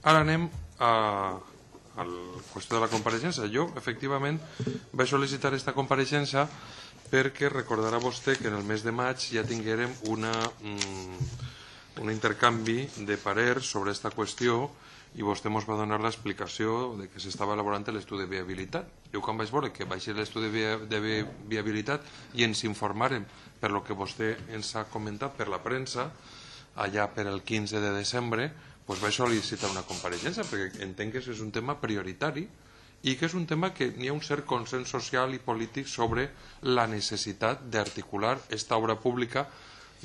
Ara anem a la qüestió de la compareixença. Jo, efectivament, vaig sol·licitar aquesta compareixença perquè recordarà vostè que en el mes de maig ja tinguérem un intercanvi de parers sobre aquesta qüestió i vostè ens va donar l'explicació de que s'estava elaborant l'estudi de viabilitat. Jo quan vaig veure que baixés l'estudi de viabilitat i ens informarem per lo que vostè ens ha comentat per la premsa, allà per el 15 de desembre, doncs vaig sol·licitar una compareixença perquè entenc que és un tema prioritari i que és un tema que hi ha un cert consens social i polític sobre la necessitat d'articular aquesta obra pública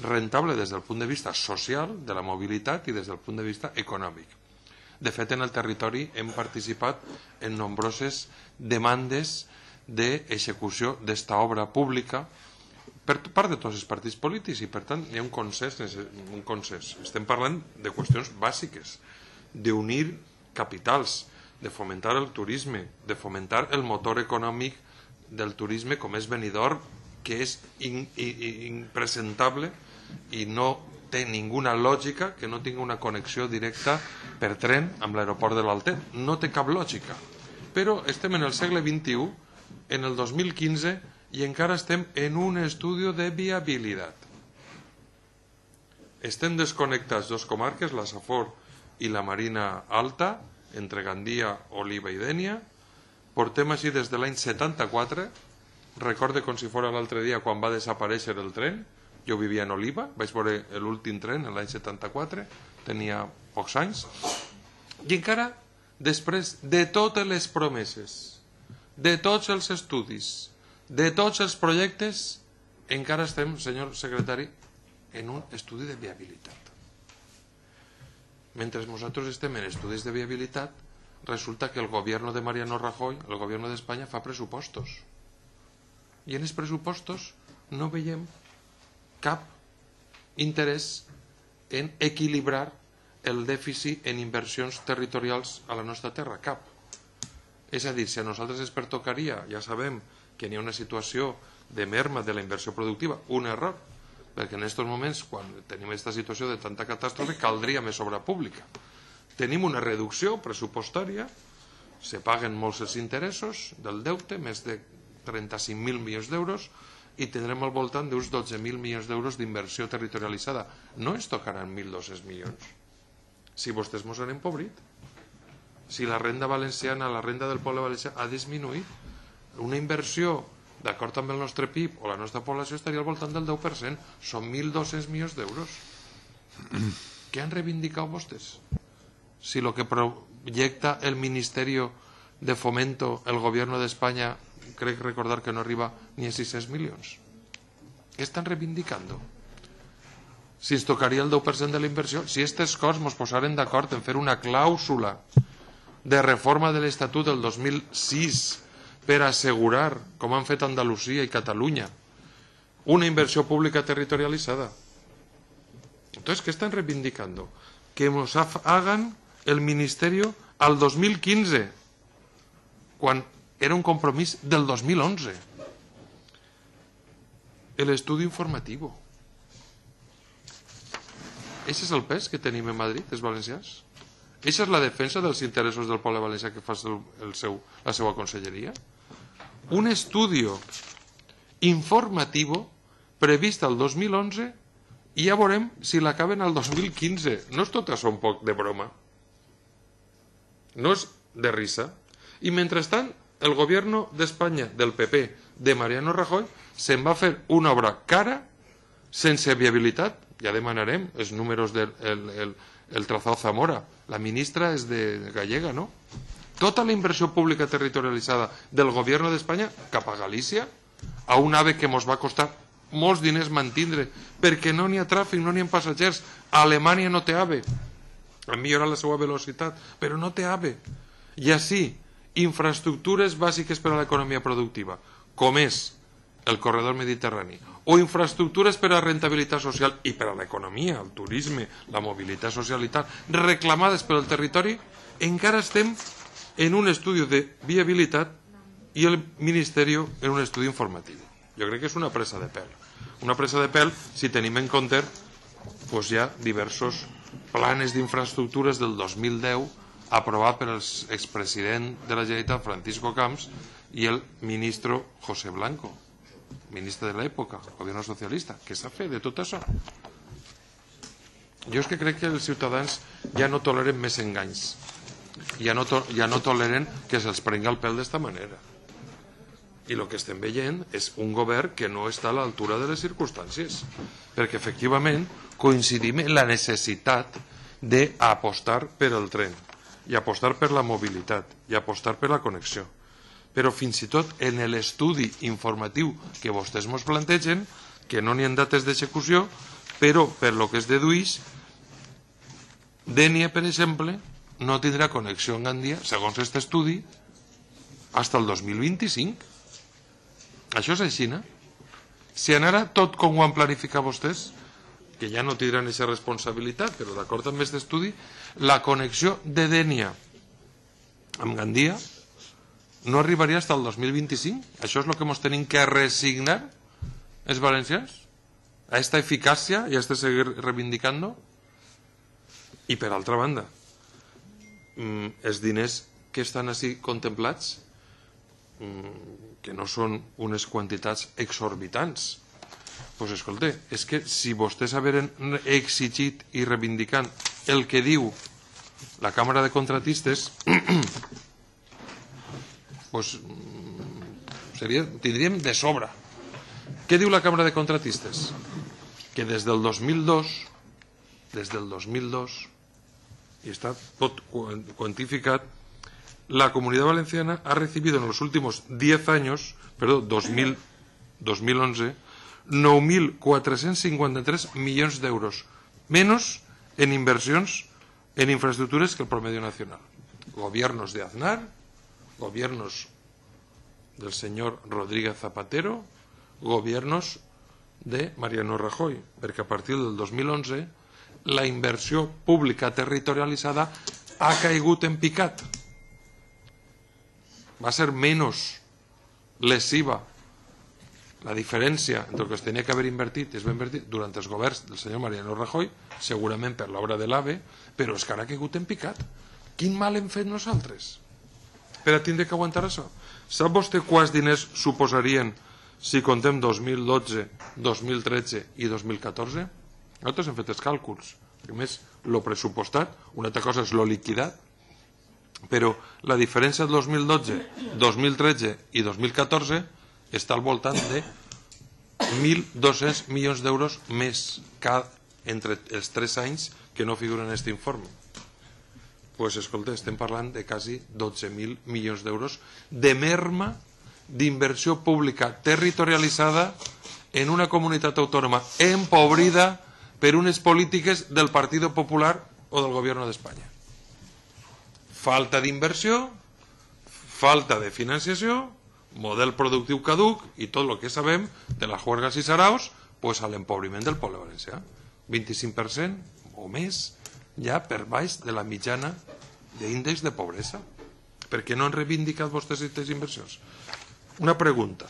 rentable des del punt de vista social, de la mobilitat i des del punt de vista econòmic. De fet, en el territori hem participat en nombroses demandes d'execució d'esta obra pública per part de tots els partits polítics i, per tant, hi ha un consens. Estem parlant de qüestions bàsiques, d'unir capitals, de fomentar el turisme, de fomentar el motor econòmic del turisme com és Benidorm, que és impresentable i no té ninguna lògica que no tingui una connexió directa per tren amb l'aeroport de l'Altet. No té cap lògica. Però estem en el segle XXI, en el 2015, i encara estem en un estudi de viabilitat. Estem desconnectats dos comarques, la Safor i la Marina Alta, entre Gandia, Oliva i Dénia. Portem així des de l'any 74. Recorde com si fos l'altre dia quan va desaparèixer el tren. Jo vivia en Oliva, vaig veure l'últim tren l'any 74, tenia pocs anys. I encara, després de totes les promeses, de tots els estudis, de tots els projectes, encara estem, senyor secretari, en un estudi de viabilitat. Mentre nosaltres estem en estudis de viabilitat, resulta que el govern de Mariano Rajoy, el govern d'Espanya, fa pressupostos. I en els pressupostos no veiem cap interès en equilibrar el dèficit en inversions territorials a la nostra terra, cap. És a dir, si a nosaltres ens pertocaria, ja sabem que hi ha una situació de merma de la inversió productiva, un error, perquè en aquests moments, quan tenim aquesta situació de tanta catàstrofe, caldria més obra pública. Tenim una reducció pressupostària, se paguen molts els interessos del deute, més de 35.000 milions d'euros, i tindrem al voltant d'uns 12.000 milions d'euros d'inversió territorialitzada. No ens tocaran 1.200 milions. Si vostès ens han empobrit, si la renda valenciana, la renda del poble valencià ha disminuït, una inversió, d'acord amb el nostre PIB o la nostra població, estaria al voltant del 10%. Són 1.200 milions d'euros. Què han reivindicat vostès? Si el que projecta el Ministerio de Fomento, el Gobierno de España, crec recordar que no arriba ni a 600 milions. Què estan reivindicant? Si ens tocaria el 10% de la inversió, si aquestes coses ens posaren d'acord en fer una clàusula de reforma de l'Estatut del 2006 per assegurar, com han fet Andalusia i Catalunya, una inversió pública territorialitzada. Entonces, ¿qué están reivindicando? Que nos hagan el ministerio al 2015, quan era un compromís del 2011. El estudio informativo. Ese és el pes que tenim en Madrid, els valencians? Eixa és la defensa dels interessos del poble valencià que fa la seva conselleria? Un estudio informativo previst al 2011 i ja veurem si l'acaben al 2015. No és tot això un poc de broma. No és de risa. I mentrestant, el govern d'Espanya, del PP, de Mariano Rajoy, se'n va fer una obra cara, sense viabilitat. Ja demanarem els números del trazado Zamora. La ministra és de gallega, no? Tota la inversió pública territorialitzada del govern d'Espanya cap a Galícia, a un AVE que ens va costar molts diners mantindre, perquè no n'hi ha tràfic, no n'hi ha passatgers. A Alemanya no té AVE. Han millorat la seva velocitat, però no té AVE. I així, infraestructures bàsiques per a l'economia productiva, com és el corredor mediterrani, o infraestructures per a rentabilitat social i per a l'economia, el turisme, la mobilitat social i tal, reclamades pel territori, encara estem en un estudi de viabilitat i el Ministeri en un estudi informatiu. Jo crec que és una presa de pèl. Una presa de pèl si tenim en compte doncs hi ha diversos planes d'infraestructures del 2010 aprovat per l'expresident de la Generalitat, Francisco Camps, i el ministre José Blanco, ministre de l'època, govern socialista. Què s'ha fet de tot això? Jo és que crec que els ciutadans ja no toleren més enganys, ja no toleren que se'ls prenga el pèl d'esta manera. I el que estem veient és un govern que no està a l'altura de les circumstàncies, perquè efectivament coincidim en la necessitat d'apostar per el tren i apostar per la mobilitat i apostar per la connexió. Però fins i tot en l'estudi informatiu que vostès ens plantegen, que no n'hi ha dates d'execució, però per lo que es dedueix, Dénia, per exemple, no tindrà connexió en Gandia, segons aquest estudi, fins al 2025. Això és així, no? Si anara tot com ho han planificat vostès, que ja no tindran aquesta responsabilitat, però d'acord amb aquest estudi, la connexió de Dénia amb Gandia no arribaria fins al 2025. Això és el que ens tenim que resignar els valencians, a esta eficàcia i a este seguir reivindicant-ho. I per altra banda, els diners que estan així contemplats, que no són unes quantitats exorbitants, doncs escolta, és que si vostès haveren exigit i reivindicant el que diu la Càmera de Contratistes, doncs tindríem de sobre. Què diu la Càmera de Contratistes? Que des del 2002, y está todo cuantificado, la Comunidad Valenciana ha recibido en los últimos 10 años, perdón, 2011, 9.453 millones de euros, menos en inversiones en infraestructuras que el promedio nacional. Gobiernos de Aznar, gobiernos del señor Rodríguez Zapatero, gobiernos de Mariano Rajoy, perquè a partir del 2011 la inversió pública territorialitzada ha caigut en picat. Va ser menys lesiva la diferència entre el que es tenia que haver invertit i es va invertir durant els governs del senyor Mariano Rajoy, segurament per l'obra de l'AVE, però és que ara ha caigut en picat. Quin mal hem fet nosaltres per a tindre que aguantar això? Sap vostè quants diners suposarien si contem 2012, 2013 i 2014? Nosaltres hem fet els càlculs. A més, lo pressupostat, una altra cosa és lo liquidat, però la diferència de 2012, 2013 i 2014 està al voltant de 1.200 milions d'euros més entre els 3 anys que no figuren en aquest informe. Doncs, escolta, estem parlant de quasi 12.000 milions d'euros de merma d'inversió pública territorialitzada en una comunitat autònoma empobrida per unes polítiques del Partido Popular o del Gobierno d'Espanya. Falta d'inversió, falta de financiació, model productiu caduc i tot el que sabem de la juergas i saraos pues, a l'empobriment del poble valencià. 25% o més ja per baix de la mitjana d'índex de pobresa. Per què no han reivindicat vostès aquestes inversions? Una pregunta.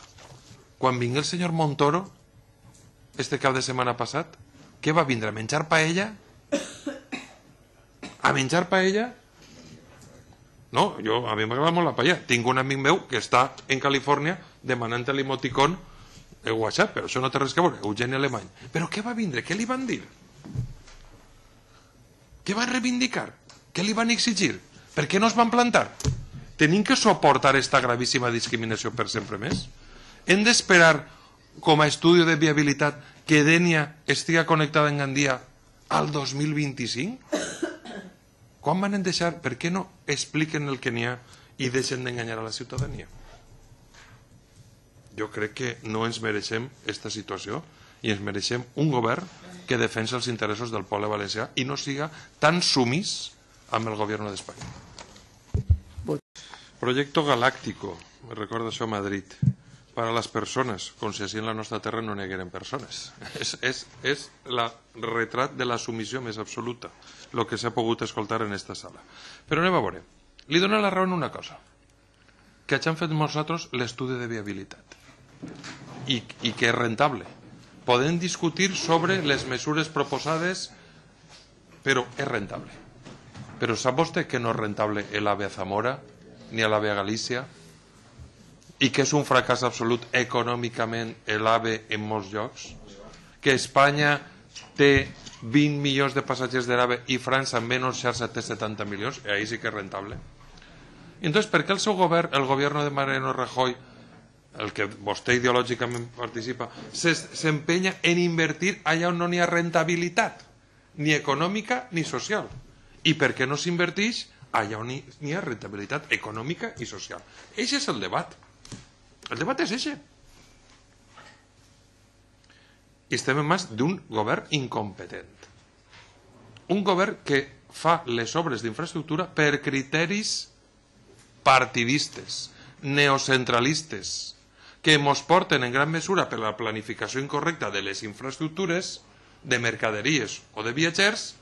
Quan vingui el senyor Montoro este cap de setmana passat, què va vindre? A menjar paella? A menjar paella? No, a mi m'agrada molt la paella. Tinc un amic meu que està en Califòrnia demanant l'emoticon de WhatsApp, però això no té res que veure, Eugeni Alemany. Però què va vindre? Què li van dir? Què van reivindicar? Què li van exigir? Per què no es van plantar? Tenim que suportar esta gravíssima discriminació per sempre més? Hem d'esperar com a estudi de viabilitat que Dénia estiga connectada en Gandia al 2025? Quan van deixar? Per què no expliquen el que n'hi ha i deixen d'enganyar a la ciutadania? Jo crec que no ens mereixem aquesta situació i ens mereixem un govern que defensa els interessos del poble valencià i no siga tan sumís amb el govern d'Espanya. Proyecto galáctico, me recorda això a Madrid, para las personas, com si així en la nostra terra no n'hi hagueren persones. És el retrat de la submissió més absoluta, el que s'ha pogut escoltar en aquesta sala. Però anem a veure. Li dono la raó en una cosa, que hagin fet nosaltres l'estudi de viabilitat i que és rentable. Podem discutir sobre les mesures proposades, però és rentable. Però sap vostè que no és rentable l'AVE a Zamora ni a l'AVE a Galícia i que és un fracàs absolut econòmicament l'AVE en molts llocs? Que Espanya té 20 milions de passatgers de l'AVE i França en menys xarxa té 70 milions? I ahí sí que és rentable. Entonces, per què el seu govern, el govern de Mariano Rajoy, el que vostè ideològicament participa, s'empenya en invertir allà on no n'hi ha rentabilitat, ni econòmica ni social? I per què no s'inverteix allà on n'hi ha rentabilitat econòmica i social? Eixe és el debat. El debat és eixe. I estem en mans d'un govern incompetent. Un govern que fa les obres d'infraestructura per criteris partidistes, neocentralistes, que ens porten en gran mesura per la planificació incorrecta de les infraestructures, de mercaderies o de viatgers,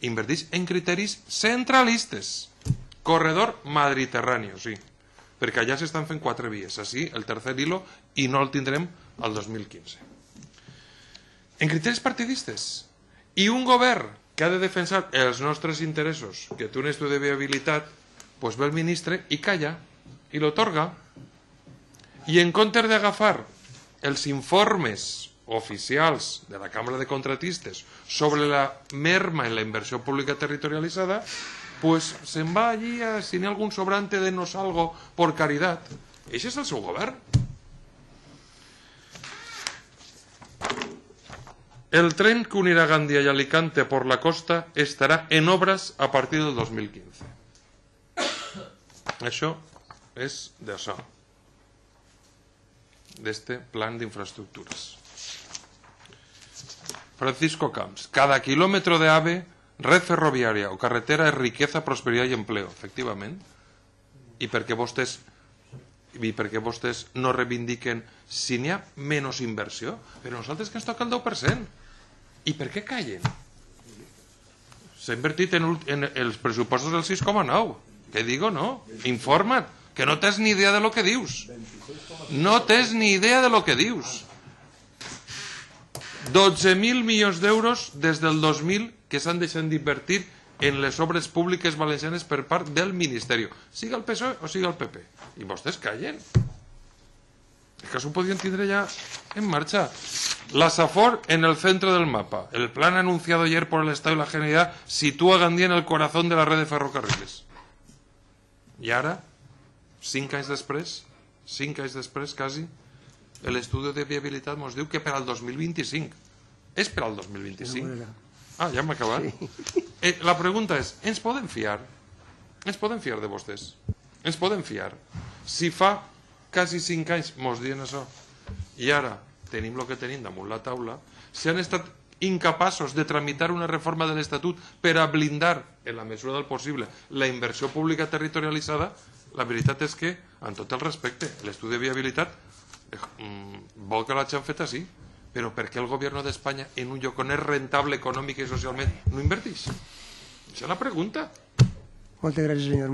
inverteix en criteris centralistes. Corredor Mediterrani, sí, perquè allà s'estan fent 4 vies, així el tercer hilo, i no el tindrem al 2015. En criteris partidistes. I un govern que ha de defensar els nostres interessos, que té un estudi de viabilitat, doncs ve el ministre i calla, i l'otorga. I en comptes d'agafar els informes oficials de la Cambra de Contratistes sobre la merma en la inversió pública territorialitzada, pues se'n va allí a si n'hi ha algun sobrante de nos algo por caridad. Ese és el seu govern. El tren que unirá Gandía y Alicante por la costa estará en obras a partir del 2015. Això és d'això, d'este plan d'infraestructures. Francisco Camps, cada kilómetro de AVE, red ferroviària o carretera és riqueza, prosperitat i empleo. Efectivament. I per què vostès no reivindiquen si n'hi ha menys inversió? Però nosaltres que ens toca el 10%. I per què callen? S'ha invertit en els pressupostos del 6,9. Què digo, no? Informa't, que no tens ni idea de lo que dius. No tens ni idea de lo que dius. 12.000 milions d'euros des del 2000 que s'han deixat d'invertir en les obres públiques valencianes per part del Ministeri, siga el PSOE o siga el PP. I vostès callen. És que això ho podien tindre ja en marxa. La Safor en el centro del mapa. El plan anunciado ayer por el Estado y la Generalidad sitúa a Gandía en el corazón de la red de ferrocarriles. I ara, 5 anys després quasi, l'estudi de viabilitat ens diu que per al 2025. És per al 2025. Ah, ja hem acabat. La pregunta és, ens podem fiar? Ens podem fiar de vostès? Ens podem fiar? Si fa quasi 5 anys ens diuen això i ara tenim el que tenim damunt la taula, si han estat incapaços de tramitar una reforma de l'Estatut per a blindar, en la mesura del possible, la inversió pública territorialitzada, la veritat és que, amb tot el respecte, l'estudi de viabilitat vol que l'hagin fet així, però per què el govern d'Espanya en un lloc on és rentable econòmic i socialment no inverteix? Això és la pregunta. Moltes gràcies, senyor.